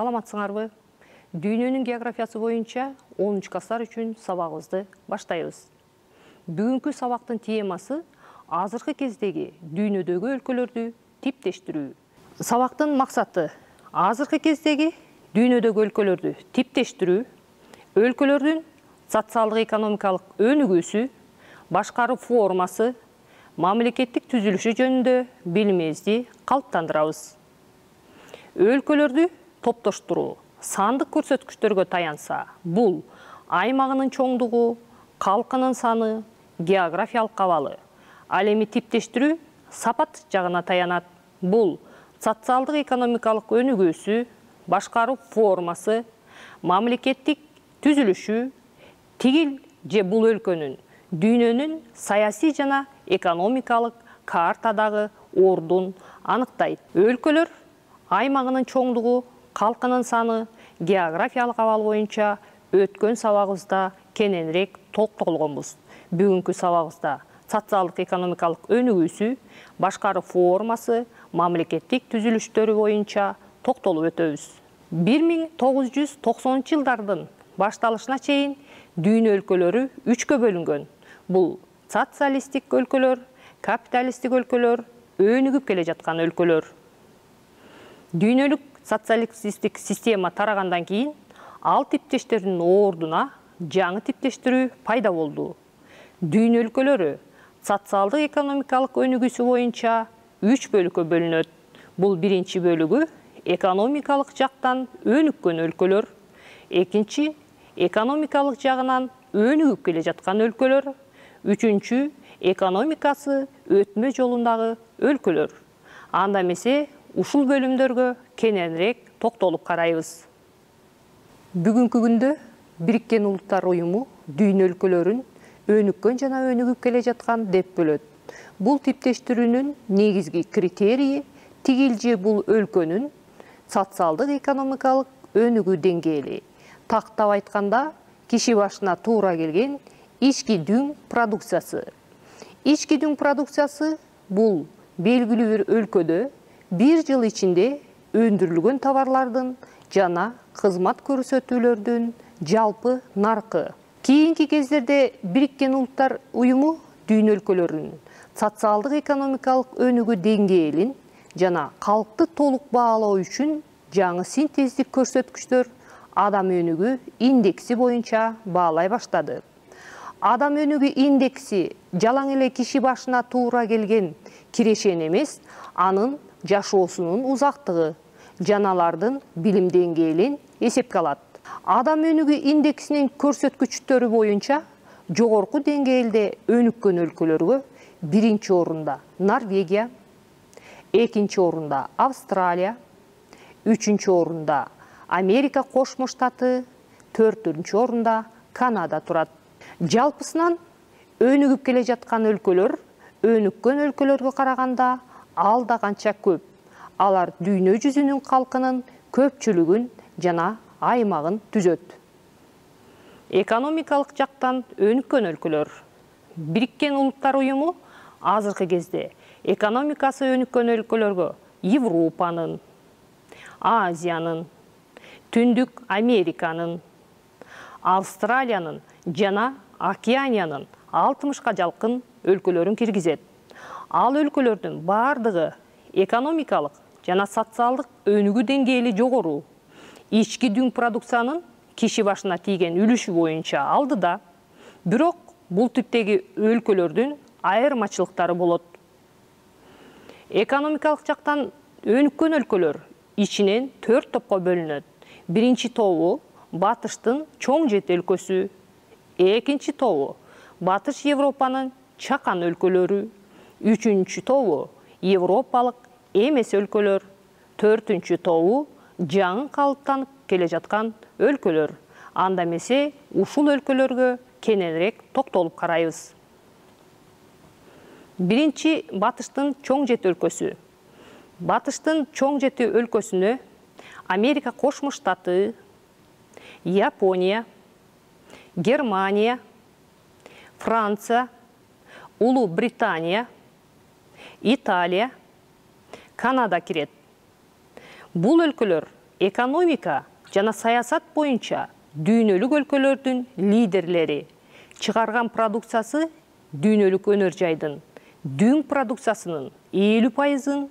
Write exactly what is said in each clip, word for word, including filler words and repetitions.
Саламатсыңарбы? Дүйнөнүн географиясы боюнча онунчу класстар үчүн сабагыбызды баштайбыз. Бүгүнкү сабактын темасы азыркы кездеги дүйнөдөгү өлкөлөрдү типтештирүү. Сабактын максаты азыркы кездеги дүйнөдөгү өлкөлөрдү типтештирүү, өлкөлөрдүн социалдык экономикалык өнүгүүсү, башкаруу формасы, мамлекеттик түзүлүшү жөнүндө билимибизди калыптандырабыз. Өлкөлөрдү топтоштуруу сандык көрсөткүчтөргө таянса, бул аймагынын чоңдугу, калкынын саны, географиялык абалы. Ал эми типтештирүү сапат жагына таянат. Бул социалдык экономикалык өнүгүүсү, башкаруу формасы, мамлекеттик түзүлүшү, тигил же бул өлкөнүн дүйнөнүн саясий жана экономикалык картадагы ордун аныктайт. Өлкөлөр аймагынын чоңдугу, калкынын саны, географиялык абал боюнча өткөн сабагыбызда кененирээк токтолгонбуз. Бүгүнкү сабагыбызда социалдык экономикалык өнүгүүсү, башкаруу формасы, мамлекеттик түзүлүштөрү боюнча токтолуп өтөбүз. бир миң тогуз жүз токсонунчу жылдардын башталышына чейин дүйнө өлкөлөрү үчкө бөлүнгөн. Бул социалисттик өлкөлөр, капиталисттик өлкөлөр, өнүгүп келе жаткан өлкөлөр. Дүйнөлүк социалисттик система тарагандан кийин ал типтештердин ордуна жаңы типтештирүү пайда болду. Дүйнө өлкөлөрү социалдык экономикалык өнүгүүсү боюнча үч бөлүккө бөлүнөт. Бул биринчи бөлүгү экономикалык жактан өнүккөн өлкөлөр, экинчи экономикалык жагынан өнүгүп келе жаткан өлкөлөр, үчүнчү экономикасы өтмө жолундагы өлкөлөр. Анда эмесе ушул бөлүмдөргө кененирээк токтолуп карайбыз. Бүгүнкү күндө Бириккен Улуттар Уюму дүйнө өлкөлөрүн өнүккөн жана өнүгүп келе жаткан деп бөлөт. Бул типтештирүүнүн негизги критерийи тигил же бул өлкөнүн социалдык экономикалык өнүгүү деңгээли. Тактап айтканда, киши башына туура келген ички дүң продукциясы. Ички дүң продукциясы бул белгилүү бир өлкөдө бир жыл ичинде өндүрүлгөн товарлардын жана кызмат көрсөтүүлөрдүн жалпы наркы. Кийинки кездерде Бириккен Улуттар Уюму дүйнө өлкөлөрүнүн социалдык экономикалык өнүгүү деңгээлин жана калкты толук баалоо үчүн жаңы синтездик көрсөткүчтөр адам өнүгүү индекси боюнча баалай баштады. Адам өнүгүү индекси жалаң эле киши башына туура келген кирешен эмес, анын жашоосунун узактыгы, жаналардын билим деңгээлин эсепке алат. Адам өнүгүү индексинин көрсөткүчтөрү боюнча жогорку деңгээлде өнүккөн өлкөлөргө биринчи орунда Норвегия, экинчи орунда Австралия, үчүнчү орунда Америка Кошмо Штаты, төртүнчү орунда Канада турат. Жалпысынан өнүгүп келе жаткан өлкөлөр өнүккөн өлкөлөргө караганда алда канча көп. Алар дүйнө жүзүнүн калкынын көпчүлүгүн жана аймагын түзөт. Экономикалык жактан өнүккөн өлкөлөр. Бириккен Улуттар Уюму азыркы кезде экономикасы өнүккөн өлкөлөргө Европанын, Азиянын, Түндүк Американын, Австралиянын жана Океаниянын алтымышка жакын өлкөлөрүн киргизет. Ал өлкөлөрдүн бардыгы экономикалык жана социалдык өнүгүү деңгээли жогору. Ички дүң продукциянын киши башына тийген үлүшү боюнча алдыда. Бирок бул типтеги өлкөлөрдүн айырмачылыктары болот. Экономикалык жактан өнүккөн өлкөлөр ичинен төрт топко бөлүнөт. Биринчи тобу Батыштын чоң жет өлкөсү, экинчи тобу Батыш Европанын чакан өлкөлөрү, үчүнчү тобу Европалык эмес өлкөлөр, төртүнчү тобу жаңы калыптанып келе жаткан өлкөлөр. Анда эмесе ушул өлкөлөргө кененирээк токтолуп карайбыз. Биринчи Батыштын чоң жет өлкөсү. Батыштын чоң жети өлкөсүнө Америка Кошмо Штаты, Япония, Германия, Франция, Улуу Британия, Италия, Канада кирет. Бул өлкөлөр экономика жана саясат боюнча дүйнөлүк өлкөлөрдүн лидерлери. Чыгарган продукциясы дүйнөлүк өнөр жайдын дүң продукциясынын элүү пайызын,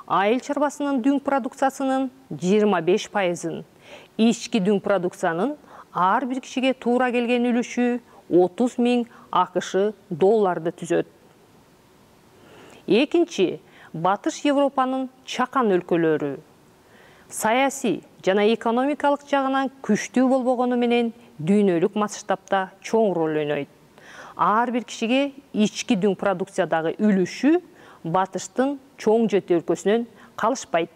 айыл чарбасынын дүң продукциясынын жыйырма беш пайызын, ички дүң продукциянын ар бир кишиге туура келген үлүшү отуз миң АКШ долларды түзөт. Экинчи, Батыш Европанын чакан өлкөлөрү. Саясий жана экономикалык жагынан күчтүү болбогону менен дүйнөлүк масштабта чоң роль ойнойт. Ар бир кишиге ички дүң продукциядагы үлүшү Батыштын чоң жети өлкөсүнөн калышпайт.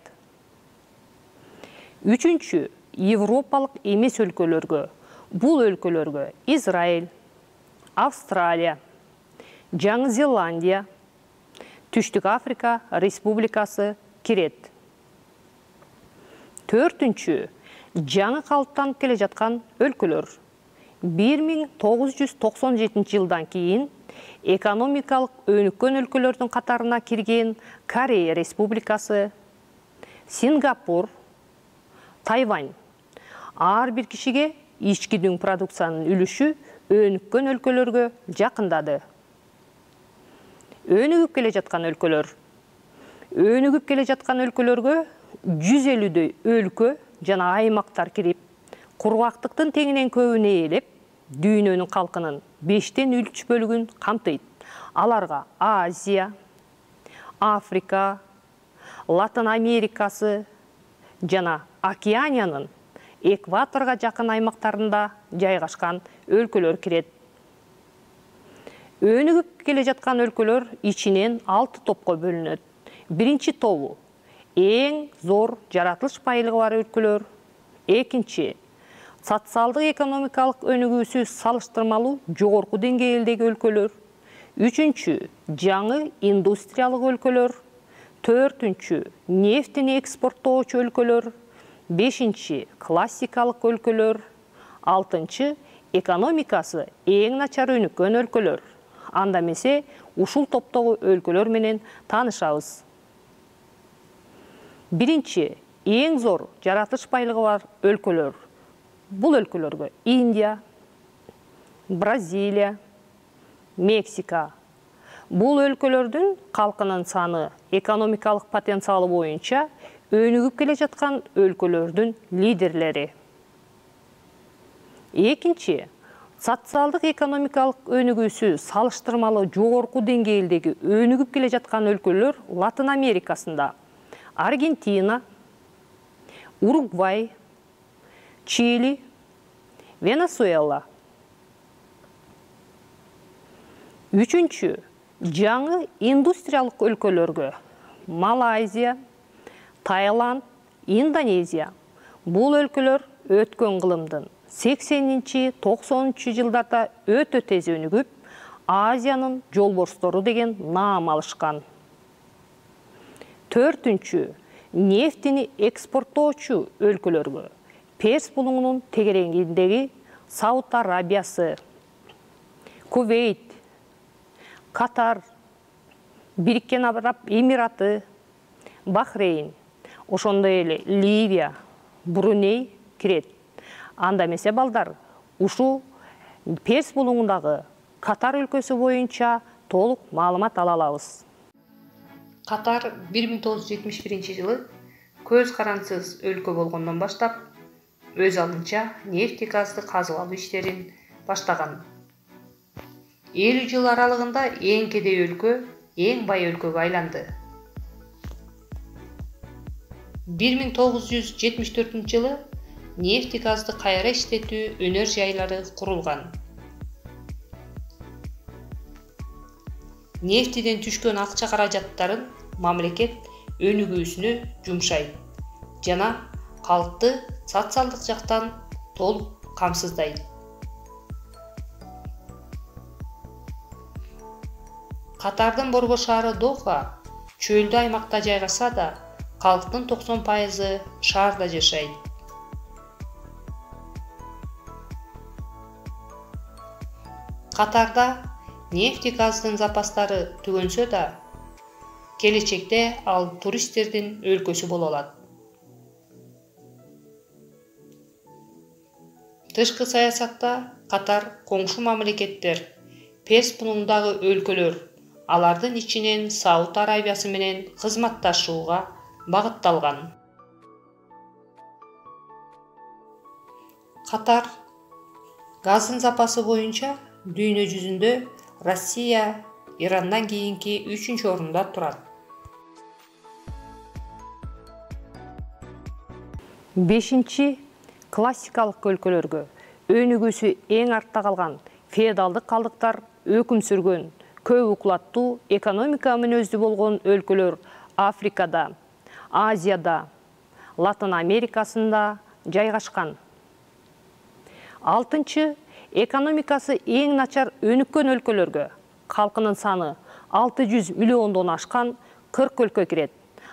Үчүнчү, Европалык эмес өлкөлөргө. Бул өлкөлөргө Израиль, Австралия, Жаңы Зеландия, Түштүк Африка Республикасы кирет. Төртүнчү, жаңы калыптанып келе жаткан өлкөлөр. бир миң тогуз жүз токсон жетинчи жылдан кийин экономикалык өнүккөн өлкөлөрдүн катарына кирген Корея Республикасы, Сингапур, Тайвань. Ар бир кишиге ички дүң продукциянын үлүшү өнүккөн өлкөлөргө жакындады. Өнүгүп келе жаткан өлкөлөр. Өнүгүп келе жаткан өлкөлөргө жүз элүүдөй өлкө жана аймактар кирип, кургактыктын теңинен көбүн ээлеп, дүйнөнүн калкынын бештен үч бөлүгүн камтыйт. Аларга Азия, Африка, Латын Америкасы жана Океаниянын экваторго жакын аймактарында жайгашкан өлкөлөр кирет. Өнүгүп келе жаткан өлкөлөр ичинен алты топко бөлүнөт. Биринчи тобу эң зор жаратылыш байлыгы бар өлкөлөр. Экинчи, социалдык экономикалык өнүгүүсү салыштырмалуу жогорку деңгээлдеги өлкөлөр. Үчүнчү, жаңы индустриялык өлкөлөр. Төртүнчү, нефтини экспорттоочу өлкөлөр. Бешинчи, классикалык өлкөлөр. Алтынчы, экономикасы эң начар өнүккөн өлкөлөр. Анда эмесе ушул топтогу өлкөлөр менен таанышабыз. Биринчи, эң зор жаратылыш байлыгы бар өлкөлөр. Бул өлкөлөргө Индия, Бразилия, Мексика. Бул өлкөлөрдүн калкынын саны экономикалык потенциалы боюнча өнүгүп келе жаткан өлкөлөрдүн лидерлери. Экинчи, социалдык экономикалык өнүгүүсү салыштырмалуу жогорку деңгээлдеги өнүгүп келе жаткан өлкөлөр Латын Америкасында Аргентина, Уругвай, Чили, Венесуэла. Үчүнчү, жаңы индустриялык өлкөлөргө Малайзия, Таиланд, Индонезия. Бул өлкөлөр өткөн кылымдын сексенинчи токсонунчу жылдарда өтө тез өнүгүп, Азиянын жолборстору деген наам алышкан. Төртүнчү, нефтини экспорттоочу өлкөлөргө Перс булуңунун тегерегиндеги Сауд Арабиясы, Кувейт, Катар, Бириккен Араб Эмираты, Бахрейн, ошондой эле Ливия, Бруней кирет. Анда эмесе балдар, ушу Перс булуңундагы Катар өлкөсү боюнча толук маалымат ала алабыз. Катар бир миң тогуз жүз жетимиш биринчи жылы көз карансыз өлкө болгондон баштап өз алдынча нефти газды казып алуу иштерин баштаган. элүү жыл аралыгында эң кедей өлкө эң бай өлкөгө айланды. бир миң тогуз жүз жетимиш төртүнчү жылы нефти газды кайра иштетүү өнөр жайлары курулган. Нефтиден түшкөн акча каражаттарын мамлекет өнүгүүсүнө жумшайт жана калкты социалдык жактан толук камсыздайт. Катардын борбор шаары Доха чөлдүү аймакта жайгашса да, калктын токсон пайызы шаарда жашайт. Катарда нефти газдын запастары түгөнсө да, келечекте ал туристтердин өлкөсү боло алат. Тышкы саясатта катар коңшу мамлекеттер, Перс муңундагы өлкөлөр, алардын ичинен Сауд Арабиясы менен кызматташууга багытталган. Катар газдын запасы боюнча дүйнө жүзүндө Россия Ирандан кийинки үчүнчү орунда турат. Бешинчи классикалык өлкөлөргө өнүгүүсү эң артта калган феодалдык калдыктар өкүм сүргөн көп уклаттуу экономика мүнөздүү болгон өлкөлөр Африкада, Азияда, Латын Америкасында жайгашкан. Алтынчы экономикасы эң начар өнүккөн өлкөлөргө калкынын саны алты жүз миллиондон ашкан кырк өлкө кирет.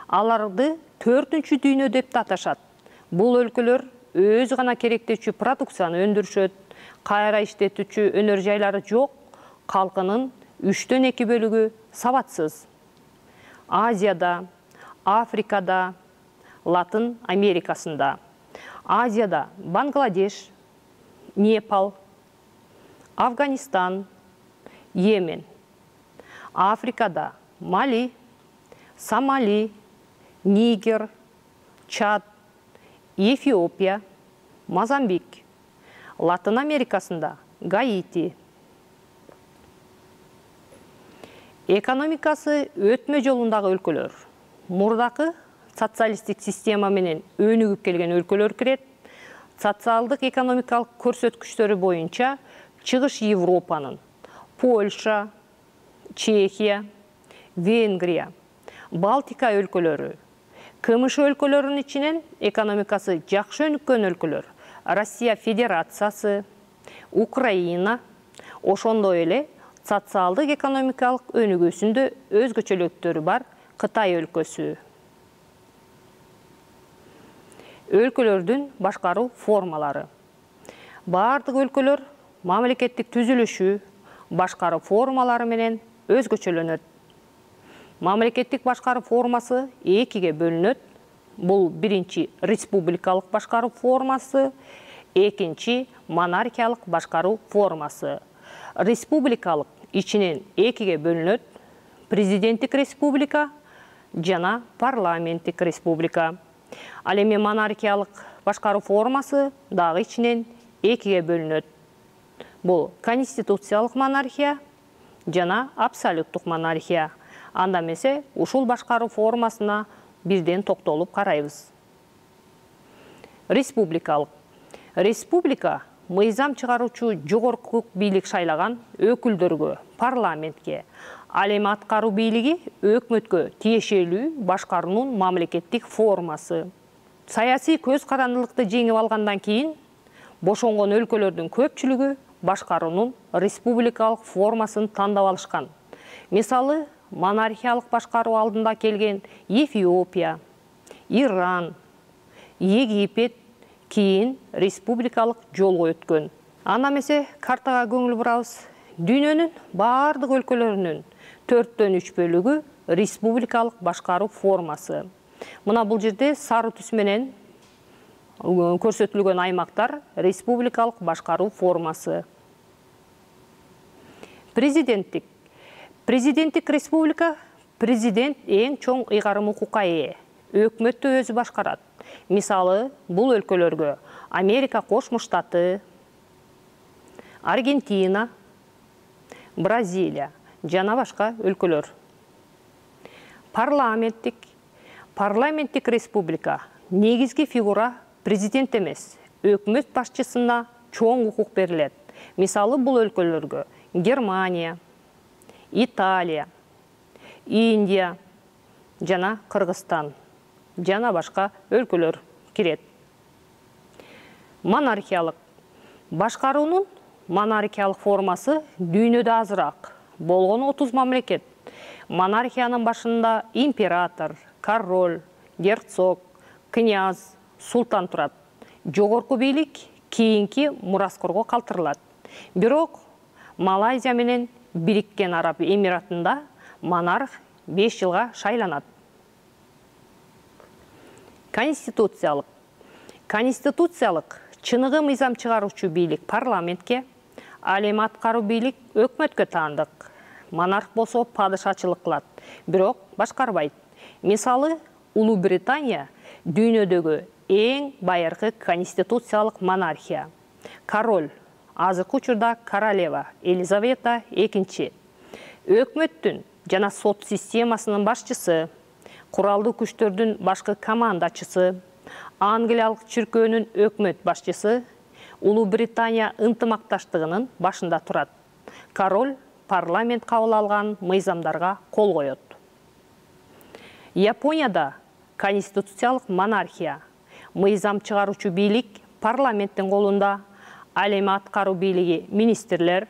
Аларды төртүнчү дүйнө деп аташат. Бул өлкөлөр өз гана керектечү продукцияны өндүрүшөт, кайра иштетүүчү өнөр жайлары жок, калкынын үчтөн эки бөлүгү сабатсыз. Азияда, Африкада, Латын Америкасында. Азияда Бангладеш, Непал, Афганистан, Йемен. Африкада Мали, Сомали, Нигер, Чад, Эфиопия, Мозамбик. Латын Америкасында Гаити. Экономикасы өтмө жолундагы өлкөлөр. Мурдакы социалисттик система менен өнүгүп келген өлкөлөр кирет. Социалдык экономикалык көрсөткүчтөрү боюнча Чыгыш Европанын Польша, Чехия, Венгрия, Балтика өлкөлөрү, КМШ өлкөлөрүнүн ичинен экономикасы жакшы өнүккөн өлкөлөр Россия Федерациясы, Украина, ошондой эле социалдык экономикалык өнүгүүсүндө өзгөчөлүктөрү бар Кытай өлкөсү. Өлкөлөрдүн башкаруу формалары. Бардык өлкөлөр мамлекеттик түзүлүшү, башкаруу формалары менен өзгөчөлөнөт. Мамлекеттик башкаруу формасы экиге бөлүнөт. Бул биринчи республикалык башкаруу формасы, экинчи монархиялык башкаруу формасы. Республикалык ичинен экиге бөлүнөт. Президенттик республика жана парламенттик республика. Ал эми монархиялык башкаруу формасы дагы ичинен экиге бөлүнөт. Бул конституциялык монархия жана абсолюттук монархия. Анда эмесе ушул башкаруу формасына бирден токтолуп карайбыз. Республикалык. Республика мыйзам чыгаруучу жогорку бийлик шайлаган өкүлдөргө, парламентке, ал эми аткаруу бийлиги өкмөткө тиешелүү башкаруунун мамлекеттик формасы. Саясий көз карандылыкты жеңип алгандан кийин бошонгон өлкөлөрдүн көпчүлүгү башкаруунун республикалык формасын тандап алышкан. Мисалы, монархиялык башкаруу алдында келген Эфиопия, Иран, Египет кийин республикалык жолго өткөн. Анда эмесе картага көңүл бурабыз. Дүйнөнүн бардык өлкөлөрүнүн төрттөн үч бөлүгү республикалык башкаруу формасы. Мына бул жерде сары түс менен көрсөтүлгөн аймактар республикалык башкаруу формасы. Президенттик. Президенттик республика президент эң чоң ыйгарым укукка ээ. Өкмөттү өзү башкарат. Мисалы, бул өлкөлөргө Америка Кошмо Штаты, Аргентина, Бразилия жана башка өлкөлөр. Парламенттик. Парламенттик республика негизги фигура президент эмес, өкмөт башчысына чоң укук берилет. Мисалы, бул өлкөлөргө Германия, Италия, Индия жана Кыргызстан жана башка өлкөлөр кирет. Монархиялык. Башкаруунун монархиялык формасы дүйнөдө азыраак, болгону отуз мамлекет. Монархиянын башында император, король, герцог, князь, султан турат. Жогорку бийлик кийинки мураскорго калтырылат. Бирок Малайзия менен Бириккен Араб Эмиратында монарх беш жылга шайланат. Конституциялык. Конституциялык Чыныгы мыйзам чыгаруучу бийлик парламентке, ал эми аткаруу бийлик өкмөткө таандык. Монарх болсо падышачылык кылат, бирок башкарбайт. Мисалы, Улуу Британия дүйнөдөгү эң байыркы конституциялык монархия. Король, азыркы учурда королева Елизавета экинчи. Өкмөттүн жана сот системасынын башчысы, куралдуу күчтөрдүн башкы командачысы, Англиялык чиркөөнүн өкмөт башчысы Улуу Британия ынтымакташтыгынын башында турат. Король парламент кабыл алган мыйзамдарга кол коет. Японияда конституциялык монархия. Мыйзам чыгаруучу бийлик парламенттин колунда, ал эми аткаруу бийлиги министрлер,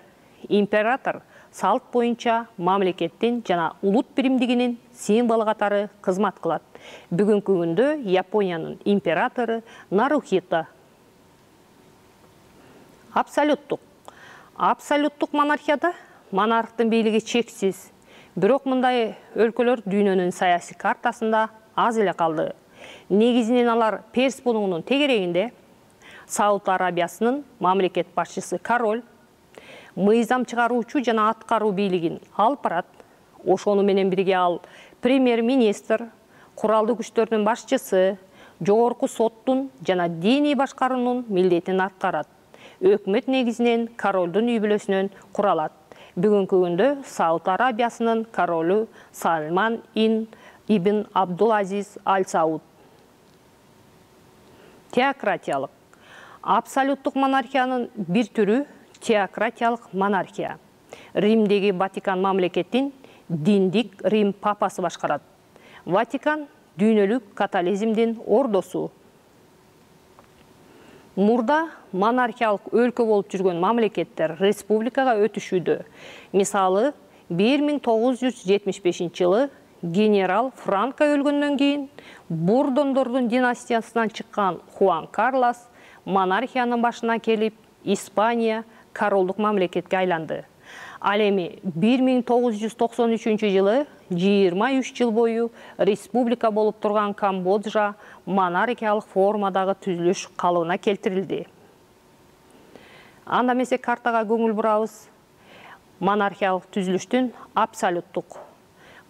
император салт боюнча мамлекеттин жана улут биримдигинин символу катары кызмат кылат. Бүгүнкү күндө Япониянын императору Нарухито. Абсолюттук. Абсолюттук монархияда монархтын бийлиги чексиз. Бирок мындай өлкөлөр дүйнөнүн саясий картасында аз эле калды. Негизинен алар Перс булугунун тегерегинде. Сауд Арабиясынын мамлекет башчысы король мыйзам чыгаруучу жана аткаруу бийлигин алып барат. Ошону менен бирге ал премьер-министр, куралдуу күчтөрдүн башчысы, жогорку соттун жана диний башкаруунун милдетин аткарат. Өкмөт негизинен королдун үй бүлөсүнөн куралат. Бүгүнкү күндө Сауд Арабиясынын королу Салман ибн Абдул-Азиз Аль-Сауд. Теократиялык. Абсолюттук монархиянын бир түрү теократиялык монархия. Римдеги Ватикан мамлекетин диндик Рим папасы башкарат. Ватикан дүйнөлүк католизмдин ордосу. Мурда монархиялык өлкө болуп жүргөн мамлекеттер республикага өтүшүүдө. Мисалы, бир миң тогуз жүз жетимиш бешинчи жылы генерал Франко өлгөндөн кийин Бурдондордун династиясынан чыккан Хуан Карлос монархиянын башына келип, Испания королдук мамлекетке айланды. Ал эми бир миң тогуз жүз токсон үчүнчү жылы жыйырма үч жыл бою республика болуп турган Камбоджа монархиялык формадагы түзүлүш калыбына келтирилди. Анда эмесе картага көңүл бурабыз. Монархиялык түзүлүштүн абсолюттук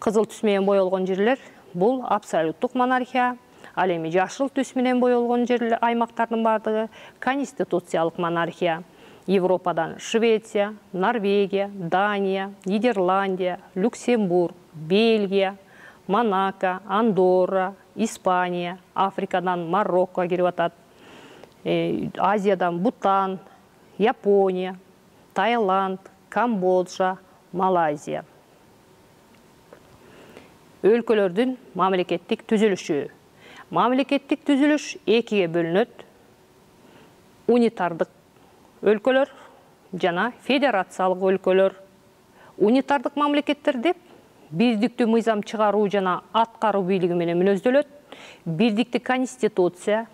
кызыл түс менен боелгон жерлер бул абсолюттук монархия. Ал эми жашыл түс менен боелгон жерлер аймактардын бардыгы конституциялык монархия. Европадан Швеция, Норвегия, Дания, Нидерландия, Люксембург, Бельгия, Монако, Андорра, Испания, Африкадан Марокко кирип атат. Азиядан Бутан, Япония, Таиланд, Камбоджа, Малайзия. Өлкөлөрдүн мамлекеттик түзүлүшү. Мамлекеттик түзүлүш экиге бөлүнөт. Унитардык өлкөлөр жана федерациялык өлкөлөр. Унитардык мамлекеттер деп бирдиктүү мыйзам чыгаруу жана аткаруу бийлиги менен мүнөздөлөт. Бирдиктүү конституция,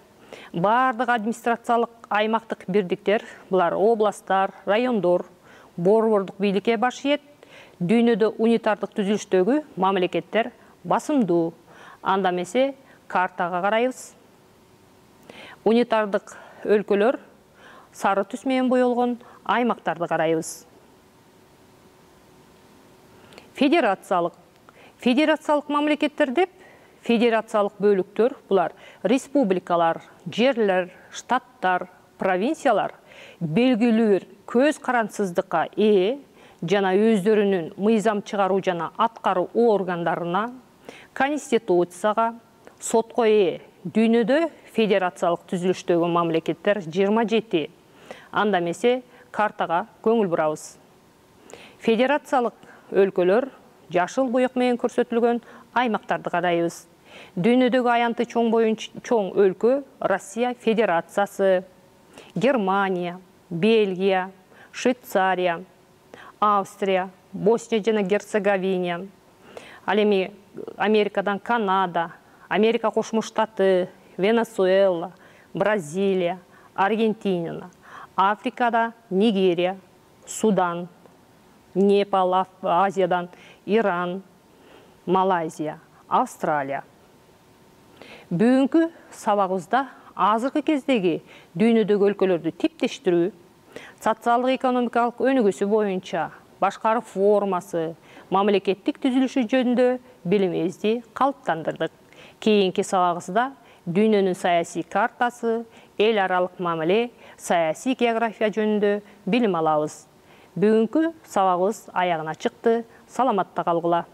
бардык администрациялык аймактык бирдиктер, булар областтар, райондор, борбордук бийликке баш ийет. Дүйнөдө унитардык түзүлүштөгү мамлекеттер басымдуу. Анда эмесе картага карайбыз. Унитардык өлкөлөр сары түс менен боелгон аймактарды карайбыз. Федерациялык. Федерациялык мамлекеттер деп федерациялык бөлүктөр, булар республикалар, жерлер, штаттар, провинциялар белгилүү бир көз карансыздыкка ээ жана өздөрүнүн мыйзам чыгаруу жана аткаруу органдарына, конституцияга, сотко ээ. Дүйнөдө федерациялык түзүлүштөгү мамлекеттер жыйырма жети. Анда эмесе картага көңүл бурабыз. Федерациялык өлкөлөр жашыл буюк менен көрсөтүлгөн аймактарды карайбыз. Дүйнөдөгү аянты чоң боюнча чоң өлкө Россия Федерациясы, Германия, Бельгия, Швейцария, Австрия, Босния жана Герцеговина. Ал эми Америкадан Канада, Америка Кошмо Штаты, Венесуэла, Бразилия, Аргентина, Африкада Нигерия, Судан, Непал, Азиядан Иран, Малайзия, Австралия. Бүгүнкү сабагыбызда азыркы кездеги дүйнөдөгү өлкөлөрдү типтештирүү, социалдык экономикалык өнүгүүсү боюнча башкаруу формасы, мамлекеттик түзүлүшү жөнүндө билимибизди калыптандырдык. Кийинки сабагыбызда дүйнөнүн саясий картасы, эл аралык мамиле, саясий география жөнүндө билим алабыз. Бүгүнкү сабагыбыз аягына чыкты. Саламатта калгыла.